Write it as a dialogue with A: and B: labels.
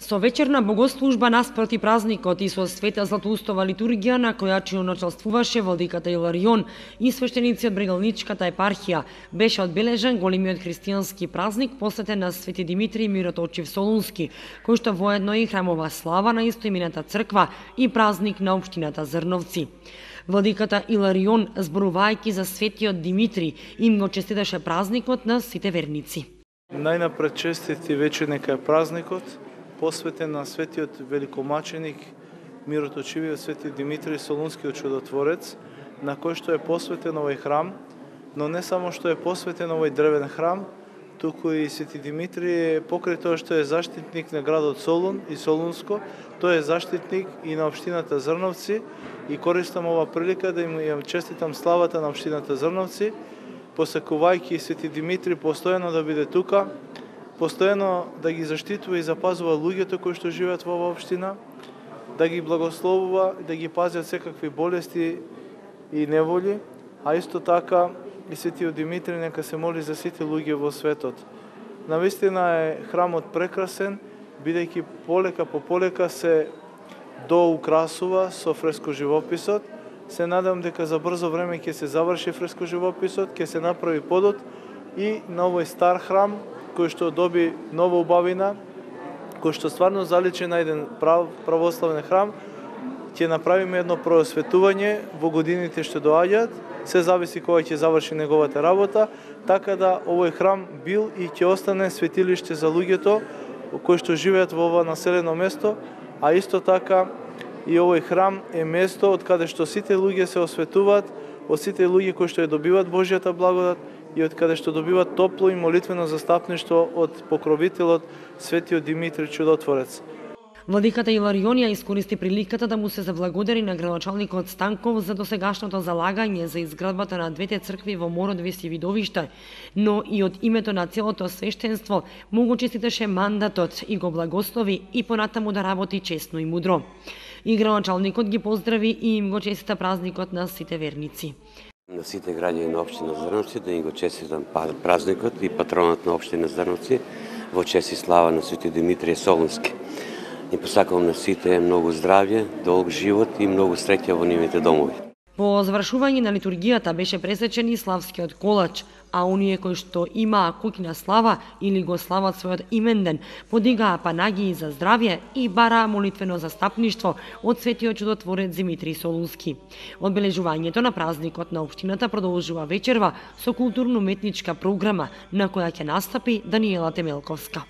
A: Со вечерна богослужба наспроти празникот и со света златоустова литургија на која началствуваше владиката Иларион и свештеници од Брегалничката епархија, беше одбележан големиот христијански празник посветен на Свети Димитрий Мироточив Солунски, кој што воедно и храмова слава на истоимената црква и празник на општината Зрновци. Владиката Иларион, зборувајќи за светиот Димитрий, им го честиташе празникот на сите верници.
B: Најнапред честити вечер нека е празникот, посветен на светиот великомаченик, мироточивиот Свети Димитрий Солунскиот чудотворец, на кој што е посветен овој храм, но не само што е посветен овој дрвен храм, туку и Свети Димитрий покрај тоа што е заштитник на градот Солун и Солунско, тој е заштитник и на општината Зрновци и користам ова прилика да им честитам славата на општината Зрновци, посакувајќи Свети Димитрий постојано да биде тука, постојано да ги заштитува и запазува луѓето кои што живеат во оваа општина, да ги благословува и да ги пази од секакви болести и неволи, а исто така и Светиот Димитрий нека се моли за сите луѓе во светот. Навистина е храмот прекрасен, бидејќи полека по полека се доукрасува со фреско живописот. Се надам дека за брзо време ќе се заврши фреско живописот, ќе се направи подот и на овој стар храм кој што доби нова убавина, кој што стварно заличи на еден православен храм, ќе направиме едно проосветување во годините што доаѓаат, се зависи кога ќе заврши неговата работа, така да овој храм бил и ќе остане светилиште за луѓето кои што живеат во ова населено место, а исто така и овој храм е место од каде што сите луѓе се осветуваат, од сите луѓе кои што ја добиваат Божјата благодат и од каде што добиваат топло и молитвено застапништво од покровителот Светиот Димитрий Чудотворец.
A: Владиката Иларион ја искористи приликата да му се заблагодари на градоначалникот Станков за досегашното залагање за изградбата на двете цркви во Мородовис и Видовиште, но и од името на целото свештенство му го честиташе мандатот и го благослови и понатаму да работи честно и мудро. И градоначалникот ги поздрави и им го честита празникот на сите верници.
C: На сите граѓани на општина Зрновци да им го честитам празникот и патронот на општина Зрновци во чест и слава на Свети Димитрий Солунски. И посакувам на сите многу здравје, долг живот и многу среќа во нивните домови.
A: По завршување на литургијата беше пресечен и славскиот колач, а оние кои што имаа куќна слава или го слават својот именден, подигаа панагии за здравје и бараа молитвено застапништво од светиот чудотворец Димитрий Солунски. Одбележувањето на празникот на општината продолжува вечерва со културно-уметничка програма на која ќе настапи Даниела Темелковска.